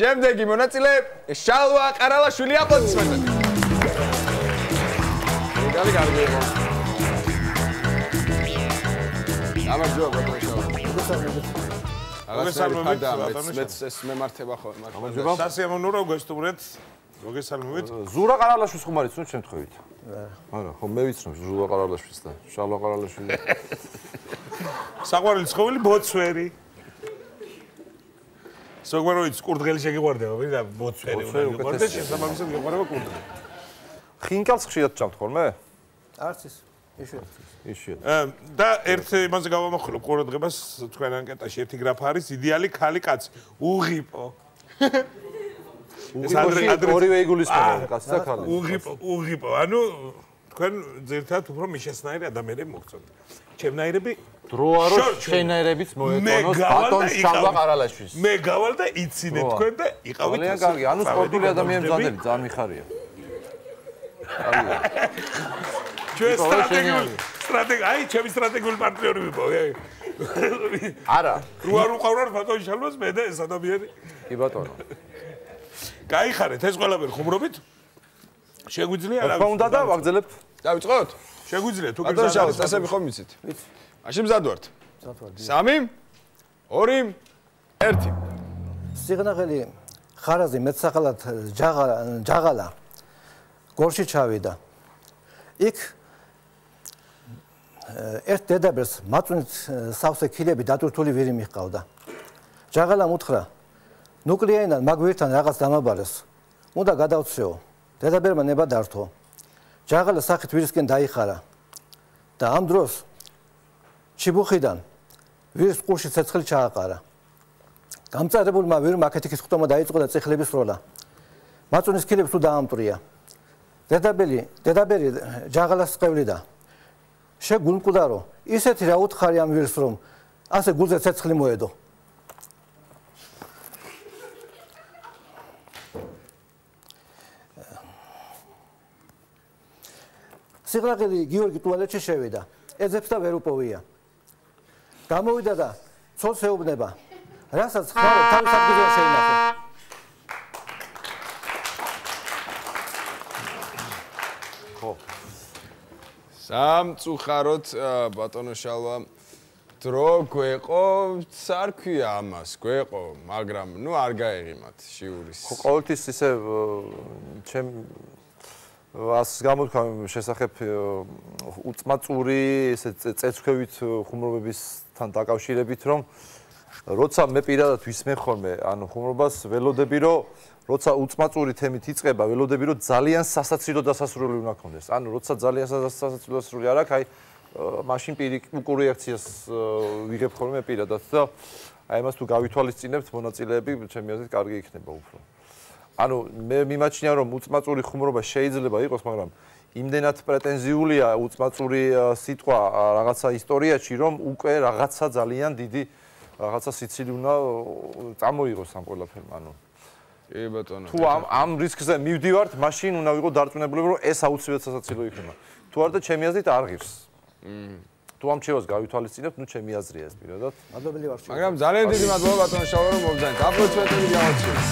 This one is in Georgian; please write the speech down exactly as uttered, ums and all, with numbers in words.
შემდეგი მონაწილე შალვა ყარალაშვილი აპლოდისმენტები. გალი გარბი იყო. გამარჯობა ბატონო შალვა. მოგესალმებით. მეც ეს მემართება ხოლმე. გამარჯობა. სასიამოვნოა გესტუმრეთ. მოგესალმებით. ზურა ყარალაშვილის ხუმარიც ნუ შემთხვევით. არა, ხო მე ვიცნობ ზურა ყარალაშვილს და შალვა ყარალაშვილი. საყვარელი ცხოველი ბოცვერი. სოგმაროიც კურდღელი შეგიყვარდება, ვიდა ბოცვერი უნდა იყოს, შესაბამისად გიყვარება კურდღელი. ხინკალს ხშირად ჭამთ ხოლმე? არც ის, იშვიათად. იშვიათად. და ერთ იმაზე გავამახვილებ ყურადღებას თქვენ ანკეტაში ერთი გრაფა არის იდეალი ქალი კაცი, უღიპო. უღიპოში ორივე იგულისხმება, კაცი და ქალი. უღიპო, უღიპო. ანუ თქვენ ძირთად უფრო მიშესნაირი ადამიანები მოგწონთ. ჩემნაირები დრო არო შენაირებიც მოეტონოს ბატონ შალვა ყარალაშვილს. მე გავალ და იცინე თქვენ და იყავით. ძალიან კარგი, ანუ სპორტული ადამიანები მზადები, ძალიან მიხარია. ჩვენ სტრატეგიული სტრატეგ აი ჩემი სტრატეგიული პარტნიორი ვიყო. არა. რო არ უყავრარ ბატონ შალვას მე და ეს ადამიანი. კი ბატონო. გაიხარეთ ეს ყველაფერი ხუმრობით? შეგვიძლია რა? რა უნდა და ვაგზელებთ? დავიწყოთ? შეგვიძლია თუ ბატონო შალვა, წესები ხომ ვიცით? ვიცი. მაშინ მზად ვართ. მზად ვარ. სამი, ორი, ერთი. სიღნაღელი ხარაზი მეტსახელად ჯაღალა გორში ჩავიდა. იქ ერთ დედაბერს მაწვნით სავსე ქილები დატვირთული ვირი მიჰყავდა. ჯაღალამ უთხრა: ნუკლეინად მაგ ვირთან რაღაც დამაბარეს. უნდა გადავცეო. დედაბერმა ნება დართო. ჯაღალა სახით ვირისკენ დაიხარა და ამ დროს ჩიბუხიდან ვირის ყურში ცეცხლი ჩააყარა. გამწარებულმა ვირმა აქეთ-იქით ხტომა დაიწყო და წიხლების სროლა. მაწვნის ქილებს თუ დაამტვრია. დედაბელი, დედაბერი ჯაღალას წევლიდა. შეგულმკვდა რომ ისეთი რა უთხარი ამ ვირს რომ ასე გულზე ცეცხლი მოედო. სიღნაღელი გიორგი ტუალეტში შევიდა. ეძებს და ვერ უპოვია. გამოვიდა და ცოლს ეუბნება, რასაც ხარ თავის ადგილზე შეინახე. ხო. სამწუხაროდ ბატონო შალვა დრო გვეყო, არ ქვია ამას, გვეყო, მაგრამ ნუ არ გაეღიმათ შიურის. ხო, ყოველთვის ისე ჩემ ას გამოთქვა შესახებ უწმაწური ესე წეცქვევით ხუმრობებისთან დაკავშირებით რომ როცა მე პირადად ვისმენ ხოლმე ანუ ხუმრობას ველოდები რომ როცა უწმაწური თემით იწყება ველოდები რომ ძალიან სასაცილო დასასრული უნდა გქონდეს ანუ როცა ძალიან სასაცილო დასასრული არ აქვს აი მაშინ პირიქულ რეაქციას ვიღებ ხოლმე პირადად და აი ამას თუ გავითვალისწინებთ მონაწილეები ჩემი აზრით კარგი იქნება უფრო ანუ მე მიმაჩნია რომ უწმაწური ხუმრობა შეიძლება იყოს, მაგრამ იმდენად პრეტენზიულია უწმაწური სიტყვა რაღაცა ისტორიაში, რომ უკვე რაღაცა ძალიან დიდი რაღაცა სიცილი უნდა წამოიღოს ამ ყველაფერმა, ანუ კი ბატონო. თუ ამ ამ რისკზე მივდივართ, მაშინ უნდა ვიყო დარწმუნებული, რომ ეს აუცილებლად სასაცილო იქნება. თუ არ და ჩემი აზრით არ ღირს. თუ ამ ჩემს გავითვალისწინებთ, ნუ ჩემი აზრია ეს პირადად. მადლობელი ვარ. მაგრამ ძალიან დიდი მადლობა ბატონო შალვა რომ მოგზაინეთ. აპლოდისმენტები გავაცნობთ.